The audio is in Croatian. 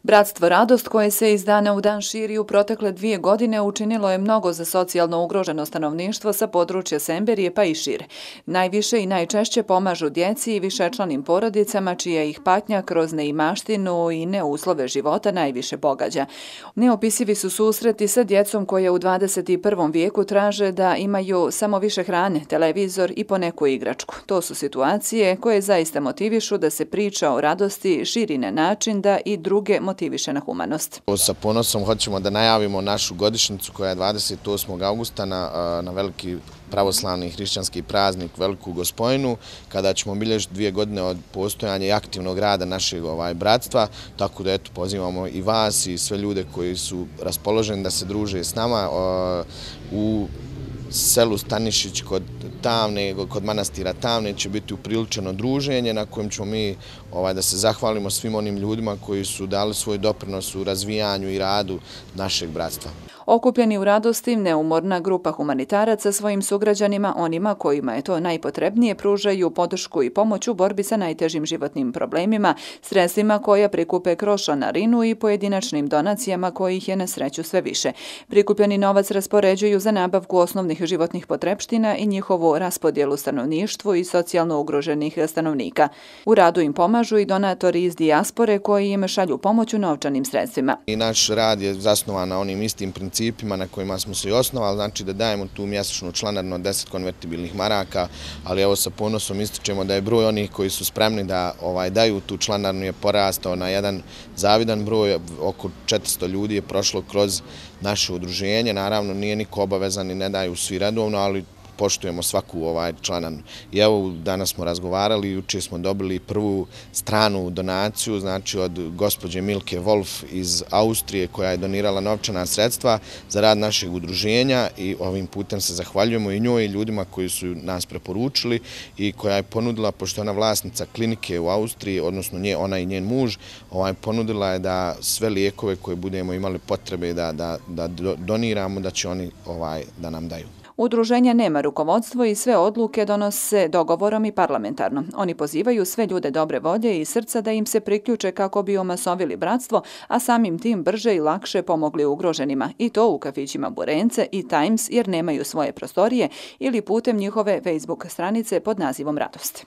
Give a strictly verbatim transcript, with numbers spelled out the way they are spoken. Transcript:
Bratstvo Radost, koje se iz dana u dan širi u protekle dvije godine, učinilo je mnogo za socijalno ugroženo stanovništvo sa područja Semberije pa i šire. Najviše i najčešće pomažu djeci i višečlanim porodicama čija ih patnja kroz neimaštinu i neuslove života najviše pogađa. Neopisivi su susreti sa djecom koje u dvadeset prvom vijeku traže da imaju samo više hrane, televizor i poneku igračku. To su situacije koje zaista motivišu da se priča o radosti širi na način da i druge motiviše na humanost. Sa ponosom hoćemo da najavimo našu godišnjicu koja je dvadeset osmog augusta na, na veliki pravoslavni i hrišćanski praznik Veliku Gospojinu, kada ćemo obilježiti dvije godine od postojanja i aktivnog rada našeg ovaj, bratstva, tako da eto, pozivamo i vas i sve ljude koji su raspoloženi da se druže s nama u selu Stanišić kod Tamne, kod manastira Tamne će biti upriličeno druženje na kojem ćemo mi ovaj, da se zahvalimo svim onim ljudima koji su dali svoj doprinos u razvijanju i radu našeg bratstva. Okupljeni u radosti, neumorna grupa humanitaraca svojim sugrađanima, onima kojima je to najpotrebnije, pružaju podršku i pomoć u borbi sa najtežim životnim problemima, sredstvima koja prikupe kroz članarinu i pojedinačnim donacijama kojih je na sreću sve više. Prikupljeni novac raspoređuju za nabavku osnovnih životnih potrepština i njihovu raspodjelu stanovništvu i socijalno ugroženih stanovnika. U radu im pomažu i donatori iz dijaspore koji im šalju pomoć u novčanim sredstvima. I naš rad je zasnovan na onim istim principima na kojima smo se i osnovali, znači da dajemo tu mjesečnu članarinu od deset konvertibilnih maraka, ali evo sa ponosom ističemo da je broj onih koji su spremni da ovaj, daju tu članarinu je porastao na jedan zavidan broj, oko četiristo ljudi je prošlo kroz naše udruženje, naravno nije niko obavezan i ne daju svi redovno, ali poštujemo svaku ovaj članarinu. I evo danas smo razgovarali, jučer smo dobili prvu stranu donaciju, znači od gospođe Milke Wolf iz Austrije koja je donirala novčana sredstva za rad našeg udruženja i ovim putem se zahvaljujemo i njoj i ljudima koji su nas preporučili i koja je ponudila, pošto je ona vlasnica klinike u Austriji, odnosno nje, ona i njen muž, ovaj, ponudila je da sve lijekove koje budemo imali potrebe da, da, da doniramo, da će oni ovaj, da nam daju. Udruženja nema rukovodstvo i sve odluke donose dogovorom i parlamentarno. Oni pozivaju sve ljude dobre volje i srca da im se priključe kako bi omasovili bratstvo, a samim tim brže i lakše pomogli ugroženima. I to u kafićima Burence i Times jer nemaju svoje prostorije ili putem njihove Facebook stranice pod nazivom Radosti.